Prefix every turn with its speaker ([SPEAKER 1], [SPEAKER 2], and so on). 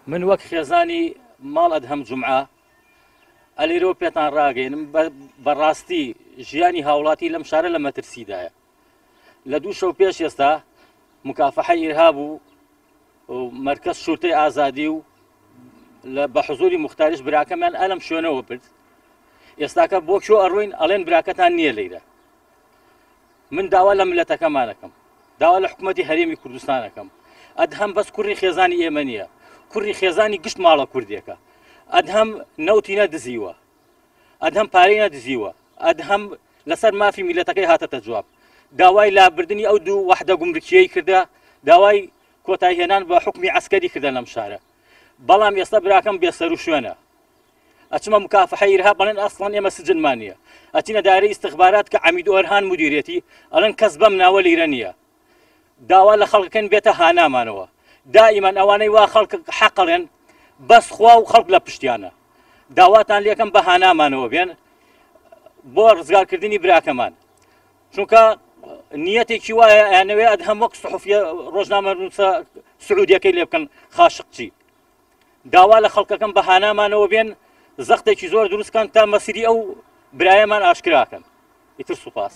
[SPEAKER 1] من وەک خێزانی ماڵ ئەدهەم جومعە ئەلێرەوە پێتان ڕاگەێنم، بەڕاستی ژیانی هاوڵاتی لەم شارە لە مەترسیدایە. لە 2 شەو پێش ئێستا مکافحەی ئیرهاب و مەرکەز شورتەی ئازادی و بە حزوری مختاریش براکەمیان ئەلم شوێنەوە برد. ئێستاکە بۆ کوێ ئەڕۆین؟ ئەڵێن براکەتان نییە لەیرە. من داوا لە ملەتەکەمانەکەم، داوا لە حکوومەتی هەرێمی کوردستانەکەم، ئەدهەم بەس کوڕی خێزانی ئێمە نییە، کوڕی خێزانی گشت ماڵە کوردێکە. ئەدهەم نەوتی نەدزیوە، ئەدهەم پارەی نەدزیوە، ئەدهەم لەسەر مافی میلەتەکەی هاتەتە جواب. داوای لابردنی ئەو 2 وەحدە گومرکیەی کردە، داوای کۆتایهێنان بە حکومی عەسکەری کردە لەم شارە. بەڵام ئێستا براکەم بێسەر و شوێنە. ئەچمە مکافحەی ئیرهاب ئەڵێن ئەسڵەن ئێمە سجنمان نییە. ئەچینە دایرەی ئیستخبارات کە عەمید ئۆرهان مدیرێتی، ئەڵێن کەس بەم ناوە لیرە نییە. داوا لە خەڵکەکەن بێتە هانامانەوە. دائیمەن ئەوانەی وا خەڵک حەقەڵێن بەس خوا و خەڵک لە پشتیانە. داواتان لێکەم بە هانامانەوە بێن بۆ ڕزگارکردنی براکەمان، چونکە نیەتێکی وایە ئەیانەوێ ئەدهەم وەک سحوفیە ڕۆژنامەنووسە سعودیەکەی لێ بکەن خاشقچی. داوا لە خەڵکەکەم بە هانامانەوە بێن، زەختێکی زۆر دروستکەن تا مەسیری ئەو برایەمان ئاشکراکەن. ئیتر سوپاس.